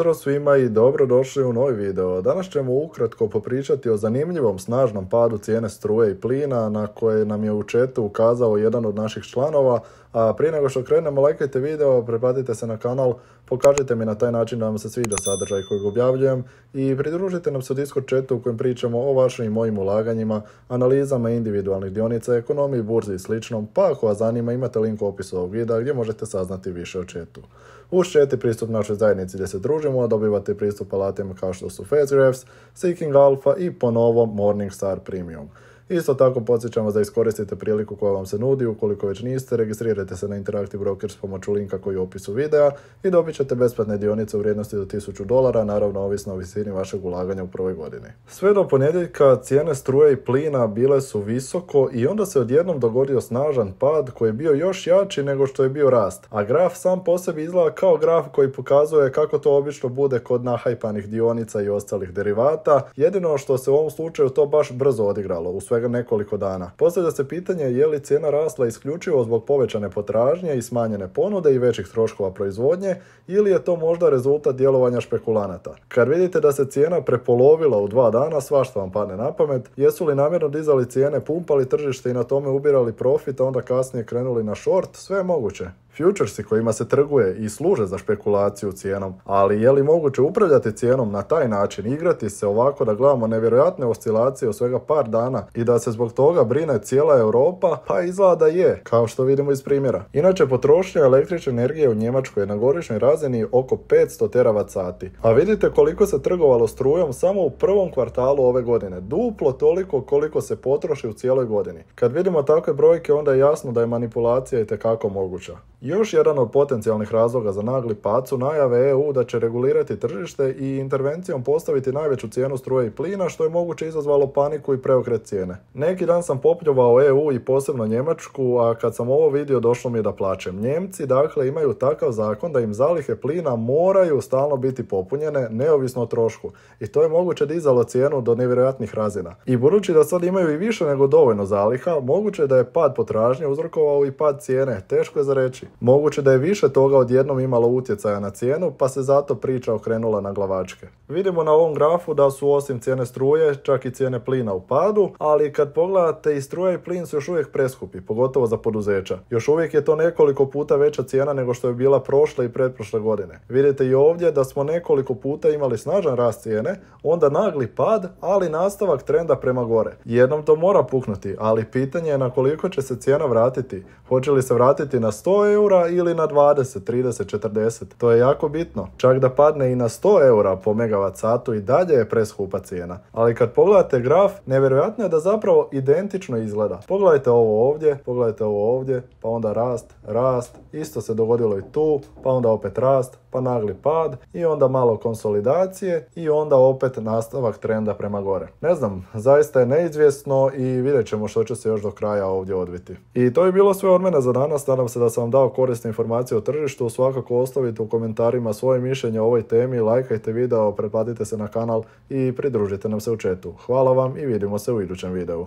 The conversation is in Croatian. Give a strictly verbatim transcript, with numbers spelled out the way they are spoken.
Pozdrav svima i dobrodošli u novi video. Danas ćemo ukratko popričati o zanimljivom snažnom padu cijene struje i plina na koje nam je u chatu ukazao jedan od naših članova. A prije nego što krenemo, lajkajte video, pretplatite se na kanal, pokažite mi na taj način da vam se sviđa sadržaj kojeg objavljujem i pridružite nam se u Discord chatu u kojem pričamo o vašim i mojim ulaganjima, analizama individualnih dionica, ekonomiji, burzi i sličnom, pa ako vas zanima imate link u opisu ovog videa gdje možete saznati više o chatu. Uz chat i pristup našoj zajednici gdje se družimo, dobivate pristup alatima kao što su FastGraphs, Seeking Alpha i po novom Morningstar Premium. Isto tako podsjećam vas da iskoristite priliku koja vam se nudi, ukoliko već niste, registrirajte se na Interactive Brokers s pomoću linka koji je u opisu videa i dobit ćete besplatne dionice u vrijednosti do tisuću dolara, naravno ovisno o visini vašeg ulaganja u prvoj godini. Sve do ponedjeljka cijene struje i plina bile su visoko i onda se odjednom dogodio snažan pad koji je bio još jači nego što je bio rast, a graf sam po sebi izgleda kao graf koji pokazuje kako to obično bude kod nahajpanih dionica i ostalih derivata, jedino što se u ovom slučaju to baš brzo odigralo, u svega nekoliko dana. Postavlja se pitanje je li cijena rasla isključivo zbog povećane potražnje i smanjene ponude i većih troškova proizvodnje ili je to možda rezultat djelovanja špekulanata. Kad vidite da se cijena prepolovila u dva dana, svašta vam padne na pamet. Jesu li namjerno dizali cijene, pumpali tržište i na tome ubirali profit, a onda kasnije krenuli na short? Sve je moguće. Futuresi kojima se trguje i služe za špekulaciju cijenom, ali je li moguće upravljati cijenom na taj način, igrati se ovako da gledamo nevjerojatne oscilacije u svega par dana i da se zbog toga brine cijela Europa? Pa izgleda da je, kao što vidimo iz primjera. Inače, potrošnja električne energije u Njemačkoj je na godišnjoj razini oko petsto teravat sati. A vidite koliko se trgovalo strujom samo u prvom kvartalu ove godine. Duplo toliko koliko se potroši u cijeloj godini. Kad vidimo takve brojke, onda je jasno da je manipulacija itekako moguća. Još jedan od potencijalnih razloga za nagli pad su najave E U da će regulirati tržište i intervencijom postaviti najveću cijenu struje i plina, što je moguće izazvalo paniku i preokret cijene. Neki dan sam popljuvao E U i posebno Njemačku, a kad sam ovo vidio došlo mi je da plačem. Njemci dakle imaju takav zakon da im zalihe plina moraju stalno biti popunjene, neovisno o trošku. I to je moguće dizalo cijenu do nevjerojatnih razina. I budući da sad imaju i više nego dovoljno zaliha, moguće je da je pad potražnje uzrokovao i pad cijene, teško je za reći. Moguće da je više toga odjednom imalo utjecaja na cijenu, pa se zato priča okrenula na glavačke. Vidimo na ovom grafu da su osim cijene struje, čak i cijene plina u padu, ali kad pogledate i struja i plin su još uvijek preskupi, pogotovo za poduzeća. Još uvijek je to nekoliko puta veća cijena nego što je bila prošle i pretprošle godine. Vidite i ovdje da smo nekoliko puta imali snažan rast cijene, onda nagli pad, ali nastavak trenda prema gore. Jednom to mora puknuti, ali pitanje je na koliko će se cijena vratiti. Hoće li se vratiti na sto eura ili na dvadeset, trideset, četrdeset. To je jako bitno. Čak da padne i na sto eura po megavat satu i dalje je preskupa cijena. Ali kad pogledate graf, nevjerojatno je da zapravo identično izgleda. Pogledajte ovo ovdje, pogledajte ovo ovdje, pa onda rast, rast, isto se dogodilo i tu, pa onda opet rast, pa nagli pad i onda malo konsolidacije i onda opet nastavak trenda prema gore. Ne znam, zaista je neizvjesno i vidjet ćemo što će se još do kraja ovdje odviti. I to je bilo sve od mene za danas, nadam se da sam vam dao korisne informacije o tržištu, svakako ostavite u komentarima svoje mišljenje o ovoj temi, lajkajte video, pretplatite se na kanal i pridružite nam se u chatu. Hvala vam i vidimo se u idućem videu.